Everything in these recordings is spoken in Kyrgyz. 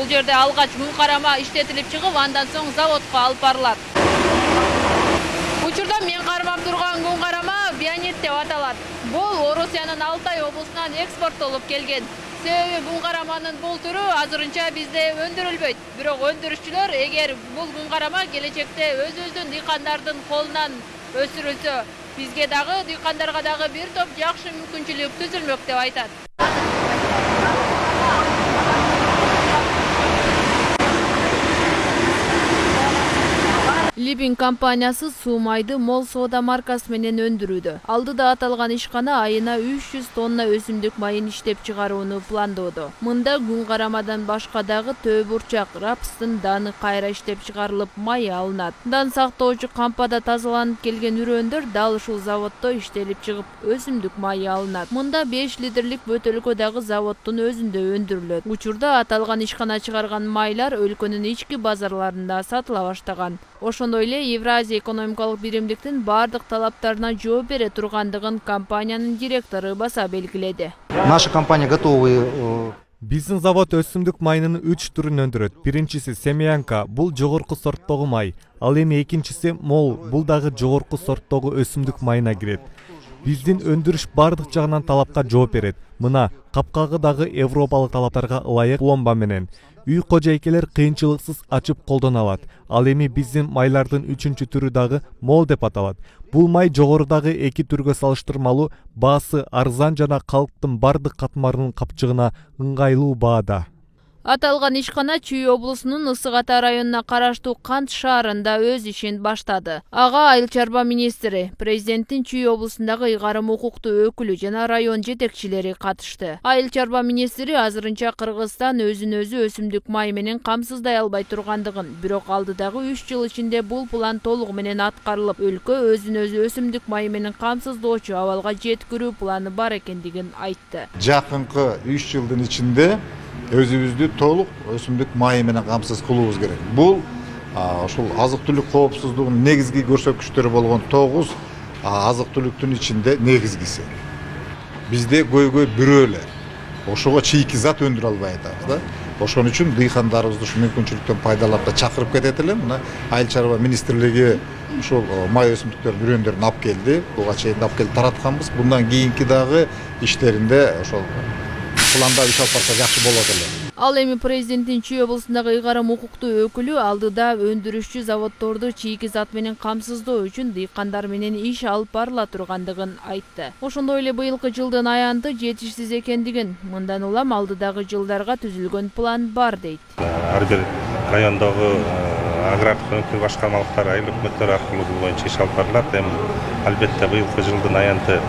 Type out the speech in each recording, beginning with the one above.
Бул жерде алгач күн карама иштетилип чыгып, андан соң заводко алып барылат. Учурда мен кармап турган күн карама бионит деп аталат. Бул Орусиянын Алтай облусунан экспорттолуп келген. Себеби күн караманын бул түрү азырынча бизде өндүрүлбөйт. Бирок өндүрүшчүлөр эгер бул күн карама келечекте өзүбүздүн дыйкандардын колунан өсүрүлсө, бизге дагы дыйкандарга дагы бир топ жакшы мүмкүнчүлүк түзүлмөк деп айтат. Libin компаниясы суу майды Мол соода маркасы менен өндүрүүдө. Алдыда аталган ишкана айына 300 тонна өсүмдүк майын иштеп чыгарууну пландоодо. Мында күн карамадан башка дагы төбурчак, рапстын даны кайра иштеп чыгарылып май алынат. Дан сактоочу кампада тазаланып келген үрөндөр дал ушул заводдо иштелип чыгып, өсүмдүк майы алынат. Мында 5 литрлик бөтөлкө дагы заводдун өзүндө өндүрүлөт. Учурда аталган ишкана чыгарган майлар өлкөнүн ички базарларында сатыла баштаган. Ошондой эле Евразия экономикалык биримдиктин бардык талаптарына жооп бере тургандыгын компаниянын директору баса белгиледи. Наша компания готовы. Биздин завод өсүмдүк майынын 3 түрүн өндүрөт. Биринчиси Семянка, бул жогорку сорттогу май. Ал эми экинчиси Мол, бул дагы жогорку сорттогу өсүмдүк майына кирет. Биздин өндүрүш бардык жагынан талапка жооп берет. Мына капкагы дагы европалык талаптарга ылайык пломба менен. Үй кожойкелер кыйынчылыксыз ачып колдоно алат. Ал эми биздин майлардын 3-чү түрү дагы Мол деп аталат. Бул май жогорудагы 2 түргө салыштырмалуу баасы арзан жана калктын бардык катмарынын капчыгына ыңгайлуу баада. Аталган ишкана Чүй облусунун Ысык Ата районуна караштуу Кант шаарында өз ишин баштады. Ага Айыл чарба министри, президенттин Чүй облусундагы ыйгарым укуктуу өкүлү жана район жетекчилери катышты. Айыл чарба министри азырынча Кыргызстан өзүн-өзү өсүмдүк май менен камсыздай албай тургандыгын, бирок алдыдагы 3 жыл ичинде бул план толугу менен аткарылып, өлкө өзүн-өзү өсүмдүк май менен камсыздоочу абалга жеткирүү планы бар экендигин айтты. Жакынкы 3 жылдын ичинде өзүбүздү толук өсүмдүк майы менен камсыз кылуубуз керек. Бул ушул азык-түлүк коопсуздугунун негизги көрсөткүчтөрү болгон 9 азык-түлүктүн ичинде негизгиси. Бизде көйгөй бирөө эле. Ошого чийки зат өндүрө албай атабыз да. Ошон үчүн дыйкандарыбызды ушул мүмкүнчүлүктөн пайдаланып да чакырып кетет элем. Мына Айыл чарба министрлиги ушул май өсүмдүктөрүнүн үрөндөрүн алып келди. Буга чейин алып келип таратканбыз. Bundan кийинки дагы иштеринде ошол планда иш алып барса жакшы болот эле. Ал эми президенттин Чүй облусундагы ыйгарым укуктуу өкүлү алдыда өндүрүшчү заводдорду чийки зат менен камсыздоо үчүн дыйкандар менен иш алып барыла тургандыгын айтты. Ошондой эле быйылкы жылдын аянты жетишсиз экендигин, мындан улам алдыдагы жылдарга түзүлгөн план бар дейт. Ар бир райондогу агрардык башкармалыктар, айыл өкмөттөр аркылуу бул боюнча иш алып барылат. Албетте быйылкы жылдын аянты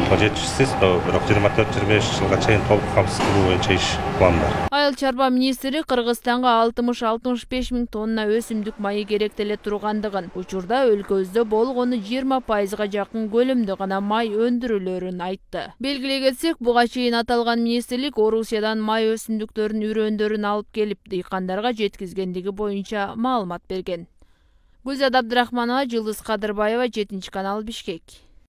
жетишсиз, бирок 24-25 жылга чейин толук камсыз кылуу боюнча иш план бар. Айыл чарба министри Кыргызстанга 60-65 миң тонна өсүмдүк майы керектеле тургандыгын, учурда өлкөбүздө болгону 20%га жакын көлөмдө гана май өндүрүлөрүн айтты. Белгилей кетсек, буга чейин аталган министрлик Орусиядан май өсүмдүктөрүнүн үрөндөрүн алып келип, дыйкандарга жеткизгендиги боюнча маалымат берген. Гүлзат Абдрахманова, Жылдыз Кадырбаева, 7 канал, Бишкек.